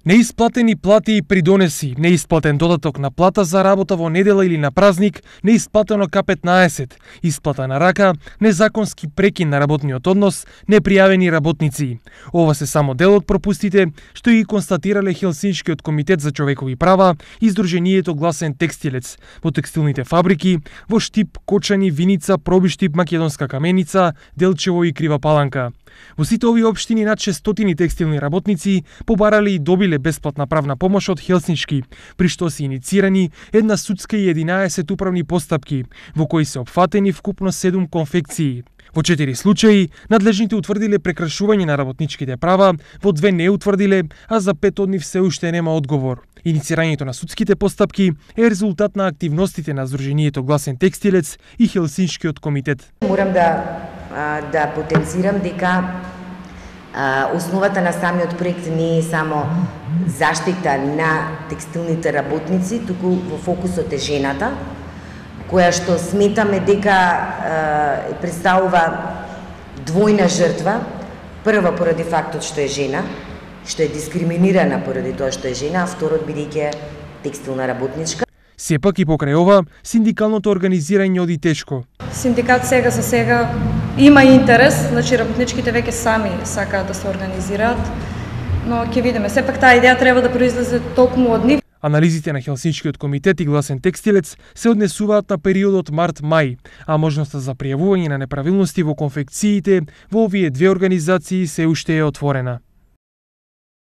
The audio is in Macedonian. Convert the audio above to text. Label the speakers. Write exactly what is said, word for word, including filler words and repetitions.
Speaker 1: Неисплатени плати и придонеси, неисплатен додаток на плата за работа во недела или на празник, неисплатено К петнаесет, исплата на рака, незаконски прекин на работниот однос, непријавени работници. Ова се само дел од пропустите што и констатирале Хелсиншкиот комитет за човекови права и Сдруженијето Гласен текстилец во текстилните фабрики во Штип, Кочани, Виница, Пробиштип, Македонска Каменица, Делчево и Крива Паланка. Во сите овие општини над шестстотини текстилни работници побарале и добиле бесплатна правна помош од Хелсиншки, при што се иницирани една судска и единаесет управни постапки, во кои се опфатени вкупно седум конфекции. Во четири случаи, надлежните утврдиле прекршување на работничките права, во две не утврдиле, а за пет од нив се уште нема одговор. Иницирањето на судските постапки е резултат на активностите на Сдруженијето Гласен текстилец и Хелсиншкиот комитет.
Speaker 2: Морам да да потенцирам дека а, основата на самиот проект не е само заштита на текстилните работници, туку во фокусот е жената, која што сметаме дека а, представува двојна жртва. Прва поради фактот што е жена, што е дискриминирана поради тоа што е жена, а второт бидејќи текстилна работничка.
Speaker 1: Сепак и покрај ова, синдикалното организирање оди тешко.
Speaker 3: Синдикат сега за сега има интерес, значи работничките веќе сами сакаат да се организираат, но ќе видиме. Сепак таа идеја треба да произлезе токму од нив.
Speaker 1: Анализите на Хелсиншкиот комитет и Гласен текстилец се однесуваат на периодот март-мај, а можноста за пријавување на неправилности во конфекциите во овие две организации се уште е отворена.